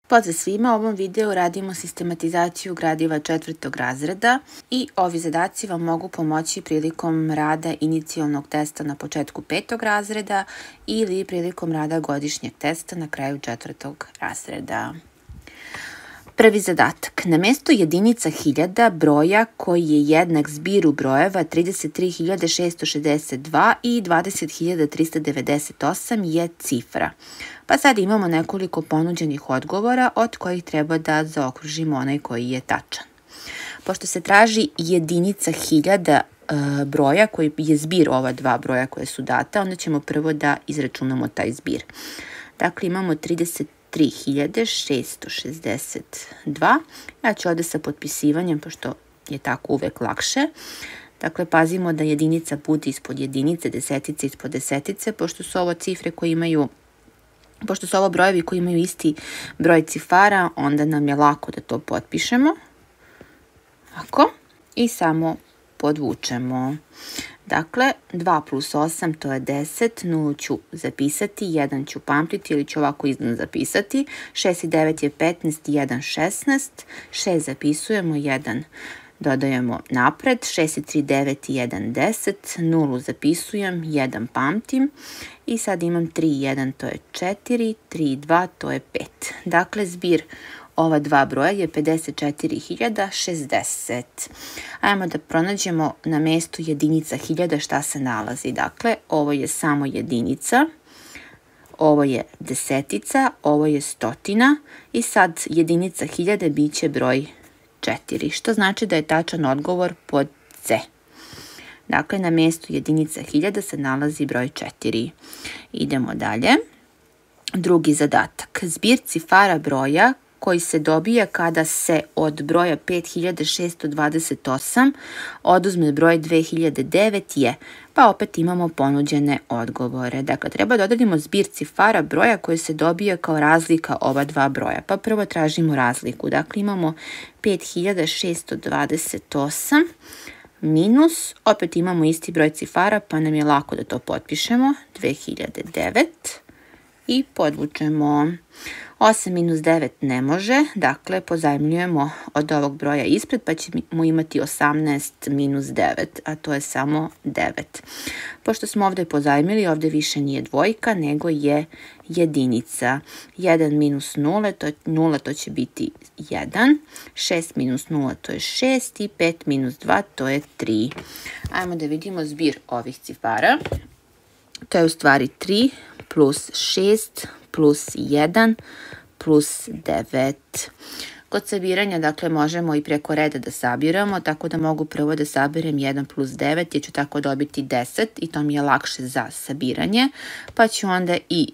Pozdrav svima, u ovom videu radimo sistematizaciju gradiva 4. razreda i ovi zadaci vam mogu pomoći prilikom rada inicijalnog testa na početku 5. razreda ili prilikom rada godišnjeg testa na kraju 4. razreda. Prvi zadatak. Na mesto jedinica hiljada broja koji je jednak zbiru brojeva 33.662 i 20.398 je cifra. Pa sad imamo nekoliko ponuđenih odgovora od kojih treba da zaokružimo onaj koji je tačan. Pošto se traži jedinica hiljada broja koji je zbir ova dva broja koje su data, onda ćemo prvo da izračunamo taj zbir. Dakle, imamo 33.662. Ja ću ovde sa potpisivanjem, pošto je tako uvek lakše. Dakle, pazimo da jedinica bude ispod jedinice, desetice ispod desetice, pošto su ovo cifre koje imaju, pošto su ovo brojevi koji imaju isti broj cifara, onda nam je lako da to potpišemo. Ovako. I samo podvučemo. Dakle, 2 plus 8 to je 10, 0 ću zapisati, 1 ću pamtiti ili ću ovako iznad zapisati, 6 i 9 je 15, 1, 16, 6 zapisujemo, 1 dodajemo napred, 6 i 3, 9 i 1, 10, 0 zapisujem, 1 pamtim i sad imam 3 i 1 to je 4, 3 i 2 to je 5. Dakle, zbir ova dva broja je 54.060. Ajmo da pronađemo na mestu jedinica hiljada šta se nalazi. Dakle, ovo je samo jedinica, ovo je desetica, ovo je stotina i sad jedinica hiljade bit će broj 4, što znači da je tačan odgovor pod C. Dakle, na mestu jedinica hiljada se nalazi broj 4. Idemo dalje. Drugi zadatak. Zbir cifara broja koji se dobija kada se od broja 5628 oduzme broj 2009 je, pa opet imamo ponuđene odgovore. Dakle, treba da odredimo zbir cifara broja koji se dobija kao razlika ova dva broja. Pa prvo tražimo razliku. Dakle, imamo 5628 minus, opet imamo isti broj cifara, pa nam je lako da to potpišemo, 2009 i podvučemo. 8 minus 9 ne može, dakle pozajmljujemo od ovog broja ispred pa ćemo imati 18 minus 9, a to je samo 9. Pošto smo ovde pozajmili, ovde više nije dvojka, nego je jedinica. 1 minus 0, to će biti 1, 6 minus 0 to je 6 i 5 minus 2 to je 3. Ajmo da vidimo zbir ovih cifara. To je u stvari 3 plus 6 plus 1 plus 9. Kod sabiranja, dakle, možemo i preko reda da sabiramo, tako da mogu prvo da saberem 1 plus 9, jer ću tako dobiti 10 i to mi je lakše za sabiranje, pa ću onda i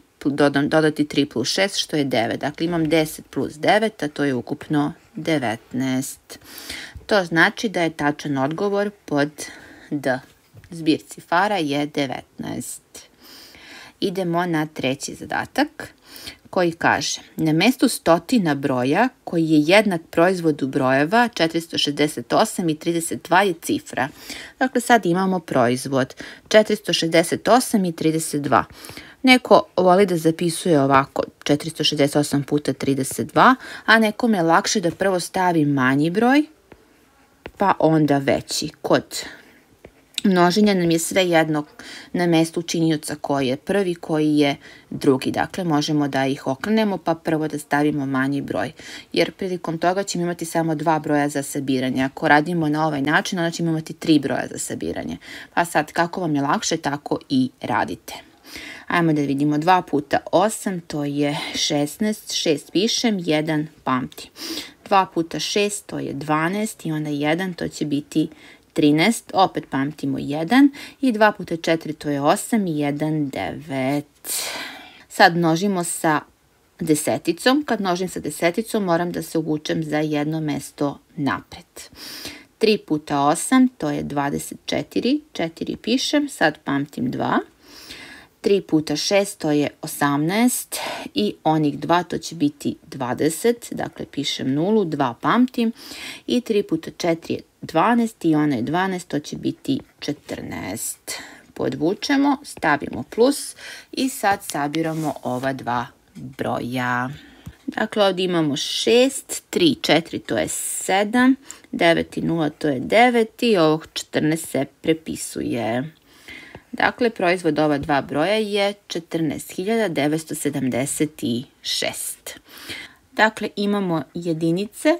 dodati 3 plus 6, što je 9. Dakle, imam 10 plus 9, a to je ukupno 19. To znači da je tačan odgovor pod D. Zbir cifara je 19. Idemo na treći zadatak koji kaže na mestu stotina broja koji je jednak proizvodu brojeva 468 i 32 je cifra. Dakle, sad imamo proizvod 468 i 32. Neko voli da zapisuje ovako 468 puta 32, a nekome je lakše da prvo stavi manji broj, pa onda veći. Kod množenja nam je sve jedno na mestu činioca koji je prvi, koji je drugi. Dakle, možemo da ih okrenemo, pa prvo da stavimo manji broj. Jer prilikom toga ćemo imati samo 2 broja za sabiranje. Ako radimo na ovaj način, onda ćemo imati 3 broja za sabiranje. Pa sad, kako vam je lakše, tako i radite. Ajmo da vidimo 2 puta 8, to je 16, 6 pišem, 1 pamti. 2 puta 6, to je 12 i onda 1, to će biti 13, opet pamtimo 1 i 2 puta 4 to je 8 i 1, 9. Sad množimo sa deseticom. Kad množim sa deseticom moram da se uvučem za jedno mesto napred. 3 puta 8 to je 24, 4 pišem, sad pamtim 2. 3 puta 6 to je 18 i onih 2 to će biti 20, dakle pišem 0, 2 pamtim i 3 puta 4 je 12 i ona je 12, to će biti 14. Podvučemo, stavimo plus i sad sabiramo ova dva broja. Dakle, ovdje imamo 6, 3, 4, to je 7, 9 i 0, to je 9 i ovog 14 se prepisuje. Dakle, proizvod ova dva broja je 14.976. Dakle, imamo jedinice,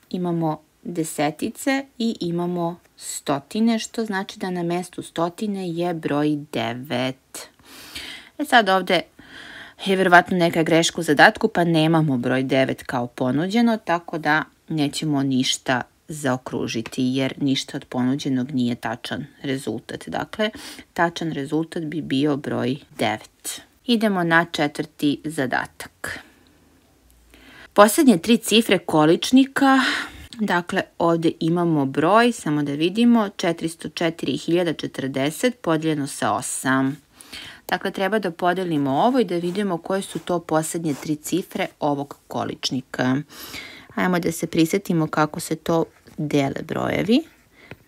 imamo desetice i imamo stotine, što znači da na mestu stotine je broj 9. Sad ovdje je verovatno neka greška u zadatku, pa nemamo broj 9 kao ponuđeno, tako da nećemo ništa zaokružiti, jer ništa od ponuđenog nije tačan rezultat. Dakle, tačan rezultat bi bio broj 9. Idemo na četvrti zadatak. Posljednje tri cifre količnika, dakle ovdje imamo broj, samo da vidimo, 404.040 podijeljeno sa 8. Dakle, treba da podelimo ovo i da vidimo koje su to posljednje tri cifre ovog količnika. Ajmo da se prisjetimo kako se to dele brojevi.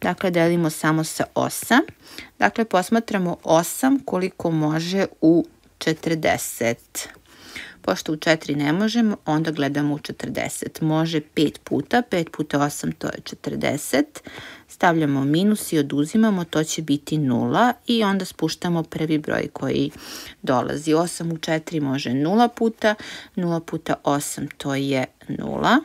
Dakle, delimo samo sa 8. Dakle, posmatramo 8 koliko može u 40. Pošto u 4 ne možemo, onda gledamo u 40. Može 5 puta, 5 puta 8 to je 40. Stavljamo minus i oduzimamo, to će biti 0 i onda spuštamo prvi broj koji dolazi. 8 u 4 može 0 puta, 0 puta 8 to je 0.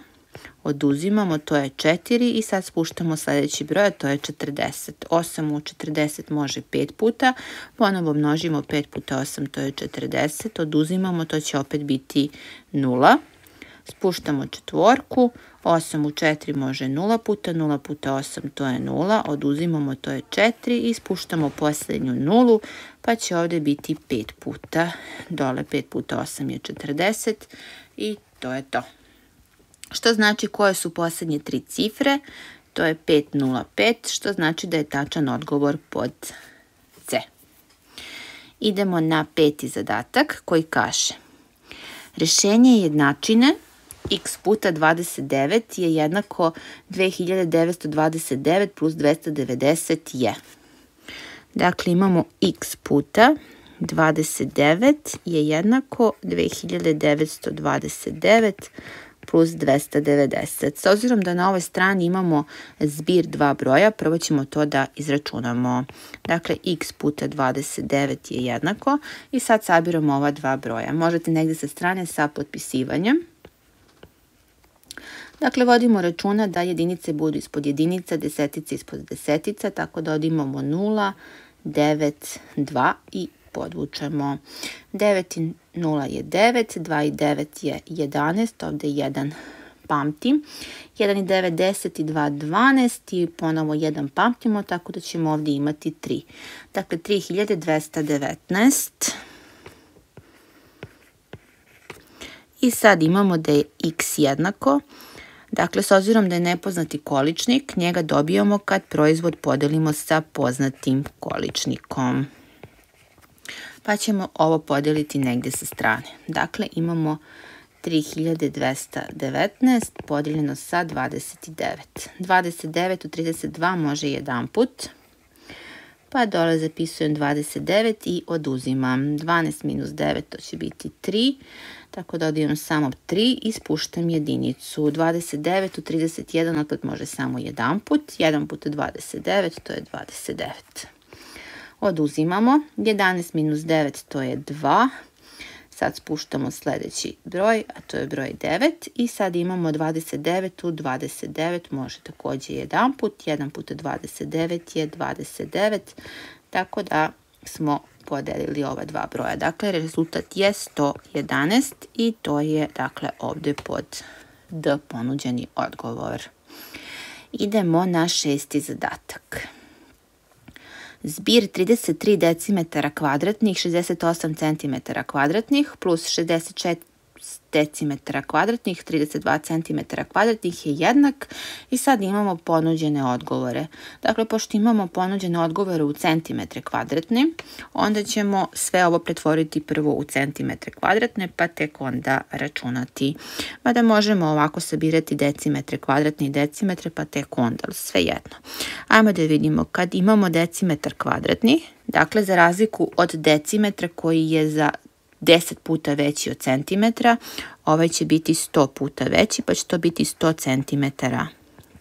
Oduzimamo, to je 4 i sad spuštamo sljedeći broj, a to je 40. 8 u 40 može 5 puta, ponovo množimo 5 puta 8, to je 40. Oduzimamo, to će opet biti 0. Spuštamo četvorku, 8 u 4 može 0 puta, 0 puta 8 to je 0, oduzimamo, to je 4 i spuštamo posljednju nulu, pa će ovdje biti 5 puta. Dole 5 puta 8 je 40 i to je to. Što znači koje su posljednje tri cifre? To je 505, što znači da je tačan odgovor pod C. Idemo na peti zadatak koji kaže: rješenje jednačine x puta 29 je jednako 2929 plus 290 je. Dakle, imamo x puta 29 je jednako 2929 plus 290. S obzirom da na ovoj strani imamo zbir dva broja, prvo ćemo to da izračunamo. Dakle, x puta 29 je jednako i sad sabiramo ova dva broja. Možete negdje sa strane sa potpisivanjem. Dakle, vodimo računa da jedinice budu ispod jedinica, desetice ispod desetica, tako da ovdje imamo 0, 9, 2 i podvučemo. 9 i 0 je 9, 2 i 9 je 11, ovdje 1 pamtim. 1 i 9, 10 i 2, 12 i ponovo 1 pamtimo, tako da ćemo ovdje imati 3. Dakle, 3219. I sad imamo da je x jednako. Dakle, s obzirom da je nepoznati količnik, njega dobijamo kad proizvod podelimo sa poznatim količnikom. Pa ćemo ovo podijeliti negdje sa strane. Dakle, imamo 3219 podijeljeno sa 29. 29 u 32 može jedan put. Pa dole zapisujem 29 i oduzimam. 12 minus 9 to će biti 3. Tako da odijem samo 3 i spuštam jedinicu. 29 u 31 opet može samo jedan put. 1 puta 29 to je 29. Oduzimamo. 11 minus 9 to je 2. Sad spuštamo sljedeći broj, a to je broj 9. I sad imamo 29 u 29 može također jedan put. 1 puta 29 je 29. Tako da smo podelili ova dva broja. Dakle, rezultat je 111 i to je dakle ovdje pod D ponuđeni odgovor. Idemo na šesti zadatak. Zbir 33 decimetara kvadratnih, 68 centimetara kvadratnih plus 64 decimetara kvadratnih, 32 centimetara kvadratnih je jednak i sad imamo ponuđene odgovore. Dakle, pošto imamo ponuđene odgovore u centimetre kvadratne, onda ćemo sve ovo pretvoriti prvo u centimetre kvadratne, pa tek onda računati. Mada možemo ovako sabirati decimetre kvadratne i decimetre, pa tek onda, sve jedno. Ajmo da vidimo, kad imamo decimetar kvadratni, dakle za razliku od decimetra koji je za 10 puta veći od centimetra, ovaj će biti 100 puta veći, pa će to biti 100 centimetara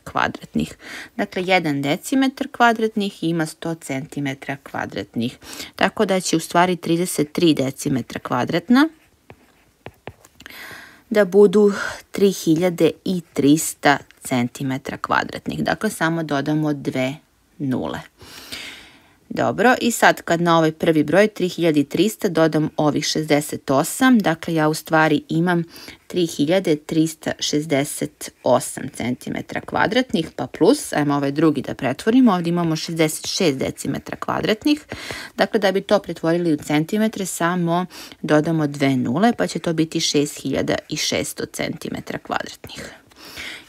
kvadratnih. Dakle, 1 decimetar kvadratnih ima 100 centimetra kvadratnih. Tako da će u stvari 33 decimetra kvadratna da budu 3300 centimetra kvadratnih. Dakle, samo dodamo 2 nule. Dobro, i sad kad na ovaj prvi broj 3300 dodam ovih 68, dakle ja u stvari imam 3368 cm kvadratnih, pa plus, ajmo ovaj drugi da pretvorimo, ovdje imamo 66 decimetra kvadratnih, dakle da bi to pretvorili u centimetre samo dodamo 2 nule, pa će to biti 6600 cm kvadratnih.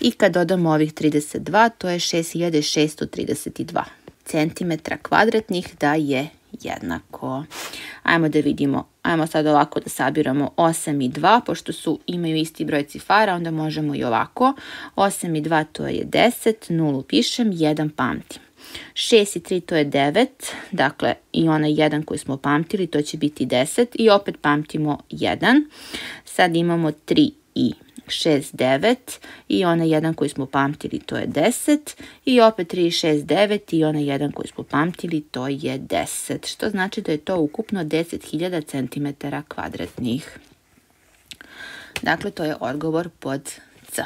I kad dodamo ovih 32, to je 6632 centimetra kvadratnih da je jednako. Ajmo da vidimo. Ajmo sad ovako da sabiramo 8 i 2, pošto imaju isti broj cifara, onda možemo i ovako. 8 i 2 to je 10, 0 pišem, 1 pamtim. 6 i 3 to je 9, dakle i onaj 1 koji smo pamtili, to će biti 10 i opet pamtimo 1. Sad imamo 3 i 6, 9 i onaj 1 koji smo pamtili, to je 10 i opet 3, 6, 9 i onaj 1 koji smo pamtili, to je 10, što znači da je to ukupno 10.000 cm kvadratnih. Dakle, to je odgovor pod C.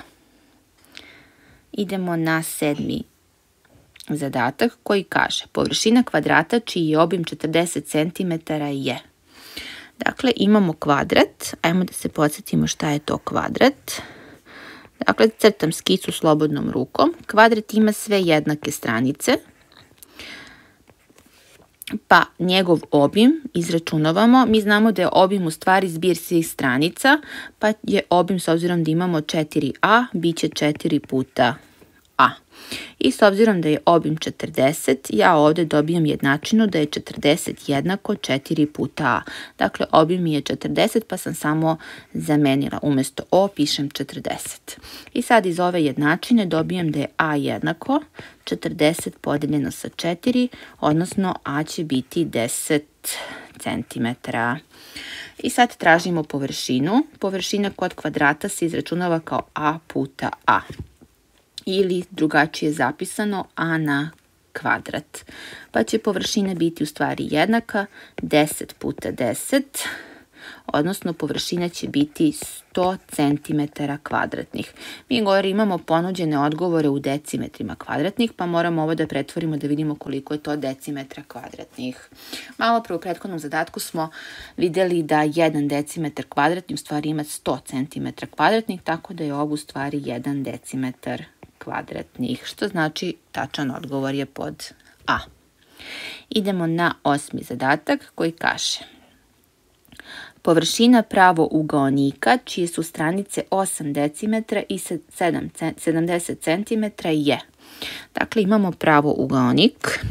Idemo na 7. zadatak koji kaže površina kvadrata čiji je obim 40 cm je. Dakle, imamo kvadrat, ajmo da se podsjetimo šta je to kvadrat. Dakle, crtam skicu slobodnom rukom. Kvadrat ima sve jednake stranice, pa njegov obim izračunavamo. Mi znamo da je obim u stvari zbir svih stranica, pa je obim, s obzirom da imamo 4a, bit će 4 puta a. I s obzirom da je obim 40, ja ovdje dobijam jednačinu da je 40 jednako 4 puta a. Dakle, obim mi je 40, pa sam samo zamenila. Umjesto o pišem 40. I sad iz ove jednačine dobijam da je a jednako 40 podeljeno sa 4, odnosno a će biti 10 cm. I sad tražimo površinu. Površina kod kvadrata se izračunava kao a puta a. Ili drugačije zapisano a na kvadrat. Pa će površina biti u stvari jednaka 10 puta 10, odnosno površina će biti 100 cm kvadratnih. Mi gore imamo ponuđene odgovore u decimetrima kvadratnih, pa moramo ovo da pretvorimo da vidimo koliko je to decimetra kvadratnih. Malo pre u prethodnom zadatku smo vidjeli da 1 decimetar kvadratni u stvari ima 100 cm kvadratnih, tako da je ovo u stvari 1 decimetar kvadratnih, što znači tačan odgovor je pod A. Idemo na 8. zadatak koji kaže površina pravougaonika čije su stranice 8 decimetra i 70 centimetra je. Dakle, imamo pravougaonik.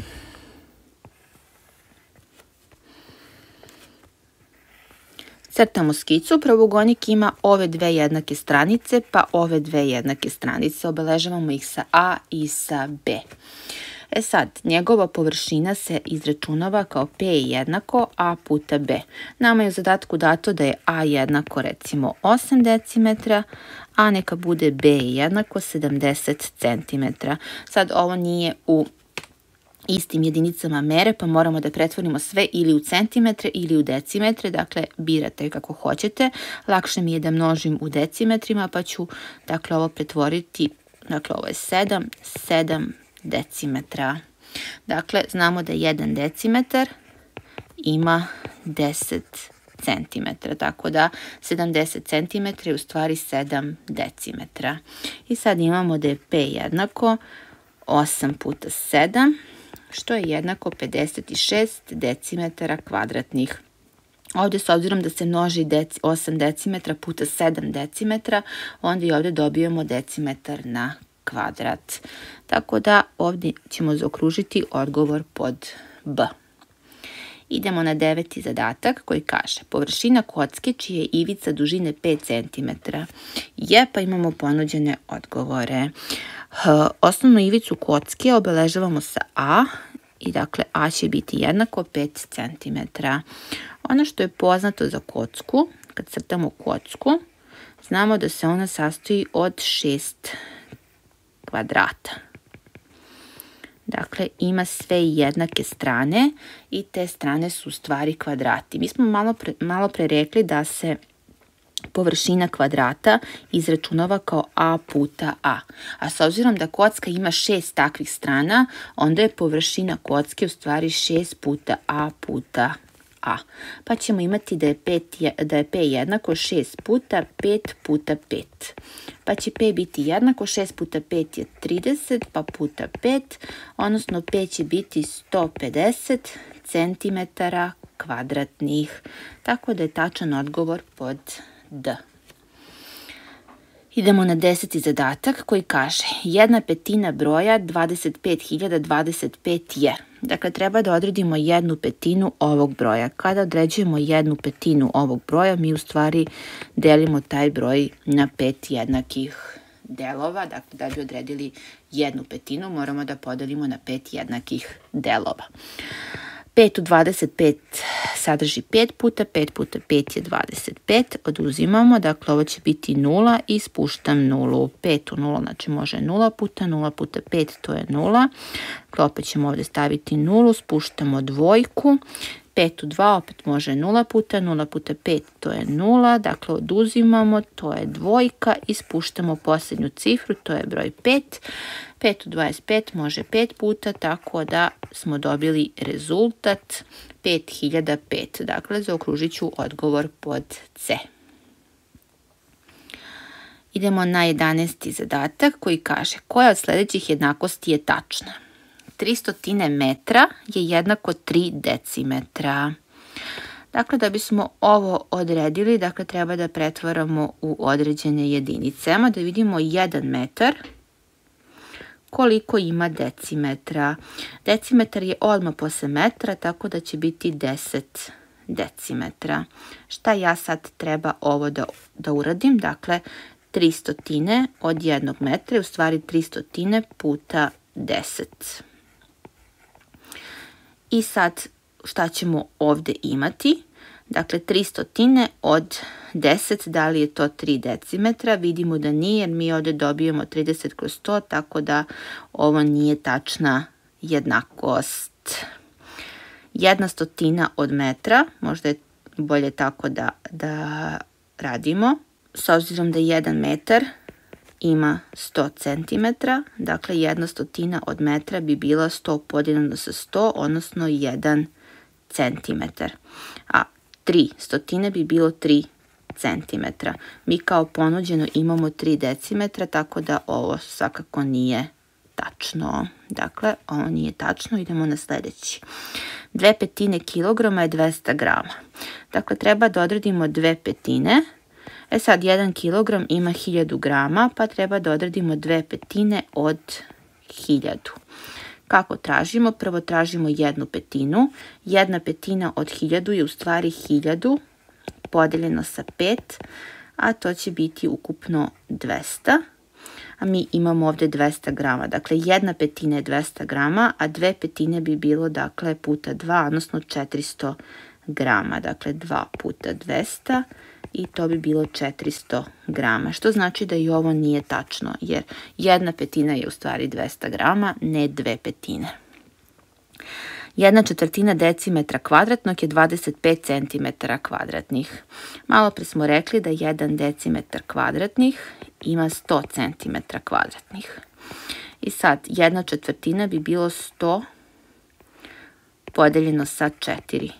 Crtamo skicu, pravougaonik ima ove dve jednake stranice, pa ove dve jednake stranice. Obeležavamo ih sa A i sa B. E sad, njegova površina se izračunava kao P jednako A puta B. Nama je u zadatku dato da je A jednako recimo 8 decimetra, a neka bude B jednako 70 centimetra. Sad ovo nije u istim jedinicama mere, pa moramo da pretvorimo sve ili u centimetre ili u decimetre, dakle birate kako hoćete. Lakše mi je da množim u decimetrima, pa ću dakle ovo pretvoriti, dakle ovo je 7 decimetra. Dakle, znamo da 1 decimetar ima 10 centimetra, tako da 70 centimetra je u stvari 7 decimetra. I sad imamo da je P jednako 8 puta 7, što je jednako 56 decimetara kvadratnih. Ovdje, s obzirom da se množi 8 decimetra puta 7 decimetra, onda i ovdje dobijemo decimetar na kvadrat. Tako da ovdje ćemo zaokružiti odgovor pod B. Idemo na 9. zadatak koji kaže površina kocke čija je ivica dužine 5 cm je, pa imamo ponuđene odgovore. Osnovnu ivicu kocke obeležavamo sa A i dakle A će biti jednako 5 cm. Ono što je poznato za kocku, kad crtamo kocku, znamo da se ona sastoji od 6 kvadrata. Dakle, ima sve jednake strane i te strane su u stvari kvadrati. Mi smo malo pre rekli da se površina kvadrata izračunava kao a puta a. A s obzirom da kocka ima 6 takvih strana, onda je površina kocke u stvari 6 puta a puta a. Pa ćemo imati da je p jednako 6 puta 5 puta 5. Pa će p biti jednako 6 puta 5 je 30, pa puta 5, odnosno p će biti 150 cm kvadratnih. Tako da je tačan odgovor pod D. Idemo na 10. zadatak koji kaže 1/5 broja 25.025 je. Dakle, treba da odredimo 1/5 ovog broja. Kada određujemo 1/5 ovog broja, mi u stvari delimo taj broj na 5 jednakih delova. Dakle, da bi odredili 1/5, moramo da podelimo na 5 jednakih delova. 5 u 25 sadrži 5 puta, 5 puta 5 je 25, oduzimamo, dakle ovo će biti 0 i spuštam 0. 5 u 0, znači može 0 puta 5, to je 0. Dakle, opet ćemo ovdje staviti 0, spuštamo dvojku. 5 u 2 opet može 0 puta 5, to je 0. Dakle, oduzimamo, to je dvojka i spuštamo posljednju cifru, to je broj 5. 5 u 25 može 5 puta, tako da smo dobili rezultat 5005. Dakle, zaokružit ću odgovor pod C. Idemo na 11. zadatak koji kaže koja od sljedećih jednakosti je tačna. 300 metra je jednako 3 decimetra. Dakle, da bismo ovo odredili, dakle, treba da pretvaramo u određene jedinice. Ajmo da vidimo 1 metar koliko ima decimetra. Decimetar je odmah posle metra, tako da će biti 10 decimetra. Šta ja sad treba ovo da uradim? Dakle, 300 od 1 metra je u stvari 300 puta 10. I sad šta ćemo ovdje imati? Dakle, 300 od 10, da li je to 3 decimetra? Vidimo da nije, jer mi ovdje dobijemo 30 kroz 100, tako da ovo nije tačna jednakost. 1/100 od metra, možda je bolje tako da radimo. S obzirom da 1 metar ima 100 cm, dakle 1/100 od metra bi bila 100 podijeljeno sa 100, odnosno 1 cm. A 3/100 bi bilo 3 cm. Mi kao ponuđeno imamo 3 decimetra, tako da ovo svakako nije tačno. Dakle, ovo nije tačno, idemo na sljedeći. 2/5 kilograma je 200 grama. Dakle, treba da odredimo 2/5. Sad 1 kilogram ima 1000 grama, pa treba da odredimo 2/5 od 1000. Kako tražimo? Prvo tražimo 1/5. 1/5 od 1000 je u stvari 1000 podeljeno sa 5, a to će biti ukupno 200. A mi imamo ovdje 200 grama. Dakle, 1/5 je 200 grama, a 2/5 bi bilo, dakle, puta 2, odnosno 400 grama. Dakle, 2 puta 200 i to bi bilo 400 grama. Što znači da i ovo nije tačno, jer 1/5 je u stvari 200 grama, ne 2/5. 1/4 decimetra kvadratnog je 25 cm kvadratnih. Malo pre smo rekli da 1 decimetar kvadratnih ima 100 cm kvadratnih. I sad 1/4 bi bilo 100 podeljeno sa 4.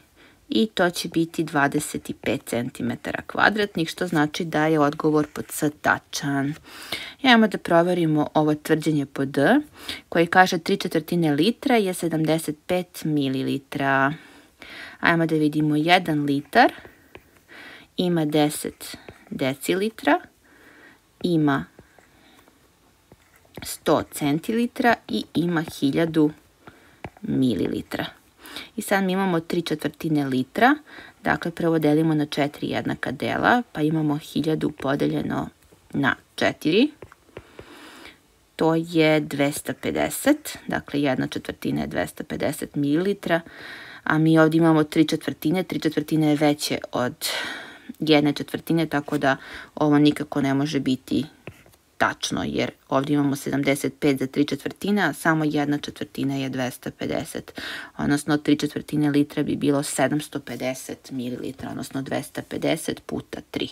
I to će biti 25 cm kvadratnih, što znači da je odgovor pod C tačan. Ajmo da proverimo ovo tvrđenje pod D, koji kaže 3/4 litra je 75 mililitra. Ajmo da vidimo 1 litar ima 10 decilitra, ima 100 centilitra i ima 1000 mililitra. I sad mi imamo 3/4 litra, dakle prvo delimo na 4 jednaka dela, pa imamo 1000 podeljeno na 4, to je 250, dakle 1/4 je 250 mililitra, a mi ovdje imamo 3/4, 3/4 je veće od 1/4, tako da ovo nikako ne može biti tačno, jer ovdje imamo 75 za 3/4, a samo 1/4 je 250, odnosno 3/4 litra bi bilo 750 ml, odnosno 250 puta 3.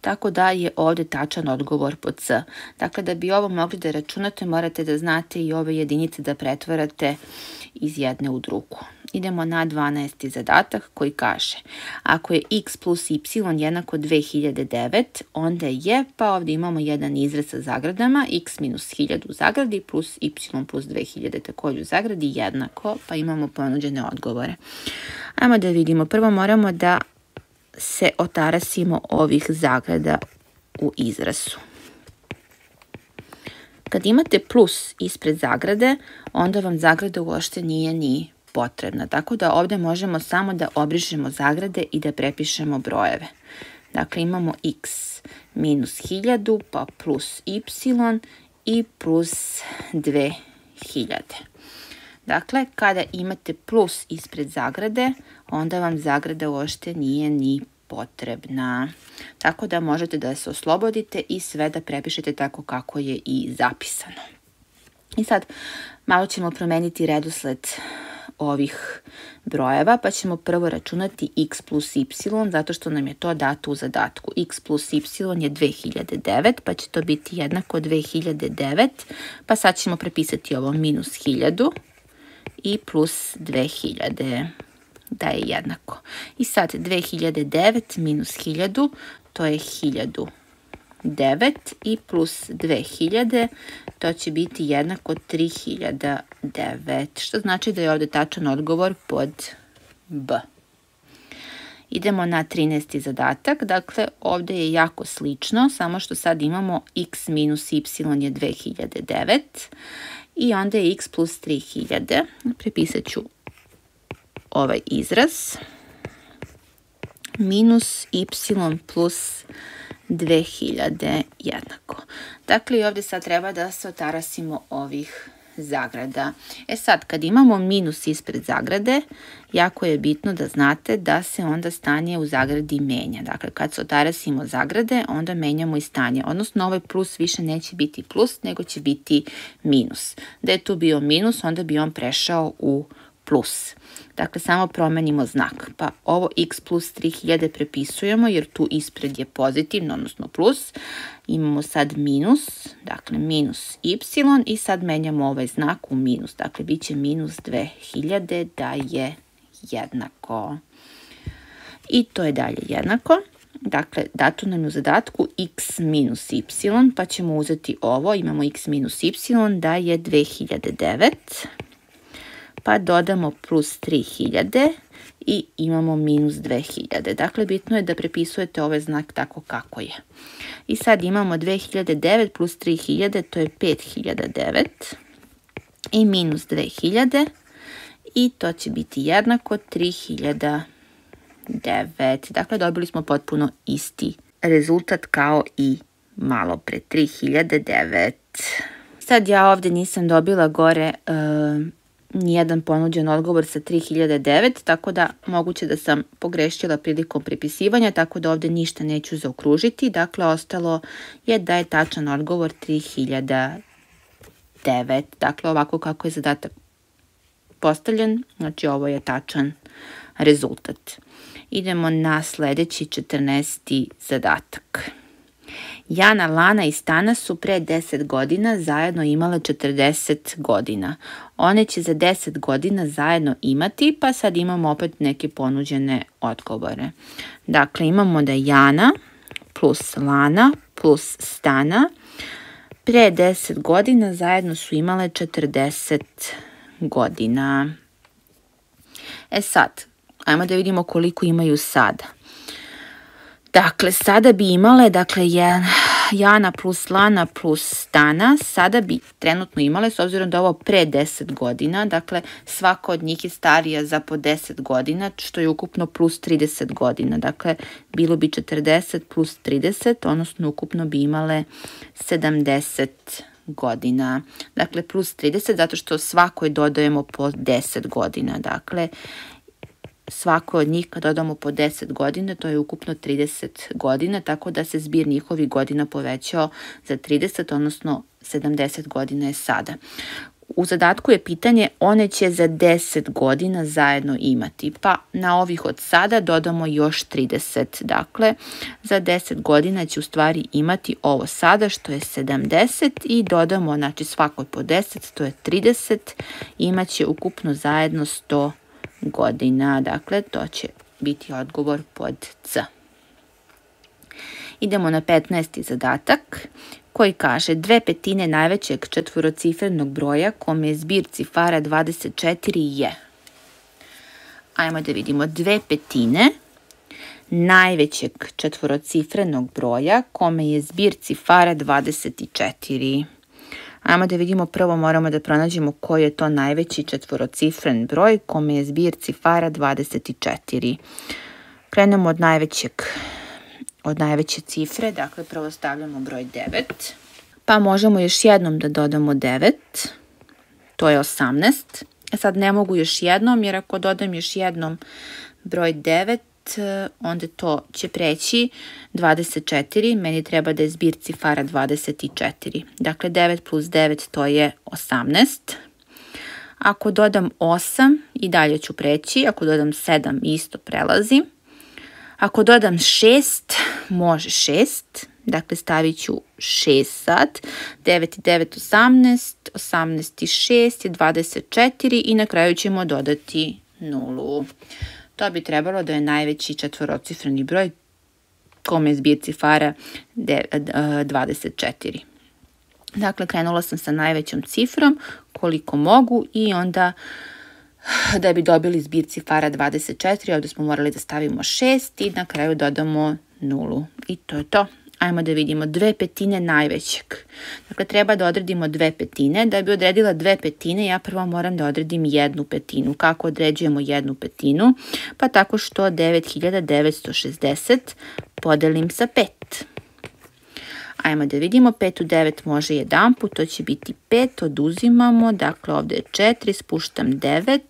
Tako da je ovdje tačan odgovor pod C. Dakle, da bi ovo mogli da računate, morate da znate i ove jedinice da pretvarate iz jedne u drugu. Idemo na 12. zadatak koji kaže: ako je x plus y jednako 2009, onda je, pa ovdje imamo jedan izraz sa zagradama, x minus 1000 u zagradi plus y plus 2000 također u zagradi jednako, pa imamo ponuđene odgovore. Ajmo da vidimo. Prvo moramo da se otarasimo ovih zagrada u izrazu. Kad imate plus ispred zagrade, onda vam zagrada uopšte nije ni potrebna. Tako da ovdje možemo samo da obrišemo zagrade i da prepišemo brojeve. Dakle, imamo x minus 1000 pa plus y i plus 2000. Dakle, kada imate plus ispred zagrade, onda vam zagrada uopšte nije ni potrebna. Tako da možete da se oslobodite i sve da prepišete tako kako je i zapisano. I sad malo ćemo promeniti redosled ovih brojeva, pa ćemo prvo računati x plus y, zato što nam je to dato u zadatku. X plus y je 2009, pa će to biti jednako 2009, pa sad ćemo prepisati ovo minus 1000 i plus 2000, da je jednako. I sad 2009 minus 1000, to je 1009 i plus 2000, to će biti jednako 3009, što znači da je ovdje tačan odgovor pod B. Idemo na 13. zadatak, dakle ovdje je jako slično, samo što sad imamo x minus y je 2009 i onda je x plus 3000, prepisat ću ovaj izraz, minus y plus 2000 jednako. Dakle, i ovdje sad treba da se otarasimo ovih zagrada. E sad, kad imamo minus ispred zagrade, jako je bitno da znate da se onda stanje u zagradi menja. Dakle, kad se otarasimo zagrade, onda menjamo i stanje. Odnosno, ovaj plus više neće biti plus, nego će biti minus. Da je tu bio minus, onda bi on prešao u plus. Dakle, samo promenimo znak. Pa ovo x plus 3000 prepisujemo jer tu ispred je pozitivno, odnosno plus. Imamo sad minus, dakle minus y i sad menjamo ovaj znak u minus. Dakle, bit će minus 2000 da je jednako. I to je dalje jednako. Dakle, dato nam je u zadatku x minus y, pa ćemo uzeti ovo. Imamo x minus y da je 2009. Pa dodamo plus 3000 i imamo minus 2000. Dakle, bitno je da prepisujete ovaj znak tako kako je. I sad imamo 2009 plus 3000, to je 5009 i minus 2000 i to će biti jednako 3009. Dakle, dobili smo potpuno isti rezultat kao i malo pre, 3009. Sad ja ovdje nisam dobila gore nijedan ponuđen odgovor sa 3009, tako da moguće da sam pogrešila prilikom prepisivanja, tako da ovdje ništa neću zaokružiti. Dakle, ostalo je da je tačan odgovor 3009. Dakle, ovako kako je zadatak postavljen, znači ovo je tačan rezultat. Idemo na sljedeći 14. zadatak. Jana, Lana i Stana su pre 10 godina zajedno imale 40 godina. One će za 10 godina zajedno imati, pa sad imamo opet neke ponuđene odgovore. Dakle, imamo da Jana plus Lana plus Stana pre 10 godina zajedno su imale 40 godina. E sad, ajmo da vidimo koliko imaju sada. Dakle, sada bi imale, dakle, Jana plus Lana plus Stana, sada bi trenutno imale, s obzirom da ovo pre 10 godina, dakle, svaka od njih je starija za po 10 godina, što je ukupno plus 30 godina. Dakle, bilo bi 40 plus 30, odnosno ukupno bi imale 70 godina. Dakle, plus 30 zato što svakoj dodajemo po 10 godina. Dakle, svako od njih kad dodamo po 10 godina, to je ukupno 30 godina, tako da se zbir njihovih godina povećao za 30, odnosno 70 godina je sada. U zadatku je pitanje, one će za 10 godina zajedno imati, pa na ovih od sada dodamo još 30. Dakle, za 10 godina će u stvari imati ovo sada, što je 70, i dodamo, znači svakoj po 10, to je 30, imaće ukupno zajedno 100 godina. Dakle, to će biti odgovor pod C. Idemo na 15. zadatak koji kaže 2/5 najvećeg četvorocifrenog broja kome je zbir cifara 24 je. Ajmo da vidimo 2/5 najvećeg četvorocifrenog broja kome je zbir cifara 24. Ajmo da vidimo, prvo moramo da pronađemo koji je to najveći četvorocifren broj kome je zbir cifara 24. Krenemo od najveće cifre, dakle prvo stavljamo broj 9, pa možemo još jednom da dodamo 9, to je 18. Sad ne mogu još jednom, jer ako dodam još jednom broj 9, onda to će preći 24, meni treba da je zbir cifara 24. Dakle, 9 plus 9 to je 18. Ako dodam 8, i dalje ću preći. Ako dodam 7, isto prelazi. Ako dodam 6, može 6. Dakle, stavit ću 6 sad. 9 i 9, 18. 18 i 6 je 24 i na kraju ćemo dodati 0. To bi trebalo da je najveći četvorocifreni broj kome je zbir cifara 24. Dakle, krenula sam sa najvećom cifrom koliko mogu i onda da bi dobili zbir cifara 24, ovdje smo morali da stavimo 6 i na kraju dodamo 0. I to je to. Ajmo da vidimo 2/5 najvećeg. Dakle, treba da odredimo 2/5. Da bi odredila 2/5, ja prvo moram da odredim 1/5. Kako određujemo 1/5? Pa tako što 9960 podelim sa 5. Ajmo da vidimo, 5 u 9 može jedan put, to će biti 5, oduzimamo, dakle ovdje je 4, spuštam 9.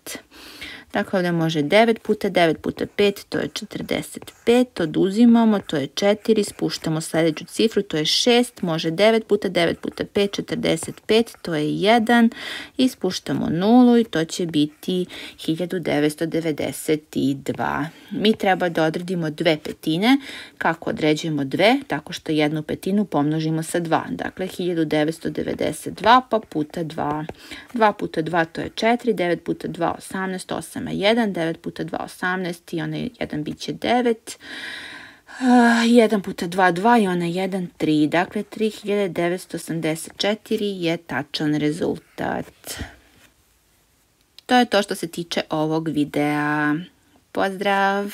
Dakle, ovdje može 9 puta 9 puta 5, to je 45, oduzimamo, to je 4, spuštamo sljedeću cifru, to je 6, može 9 puta 9 puta 5, 45, to je 1, i spuštamo 0 i to će biti 1992. Mi treba da odredimo 2/5. Kako određujemo 2? Tako što 1/5 pomnožimo sa 2. Dakle, 1992 pa puta 2. 2 puta 2 to je 4, 9 puta 2 18, 8 1, 9 puta 2 18 i onaj 1 bit će 9, 1 puta 2 2 i onaj 1 3, dakle 3984 je tačan rezultat. To je to što se tiče ovog videa. Pozdrav!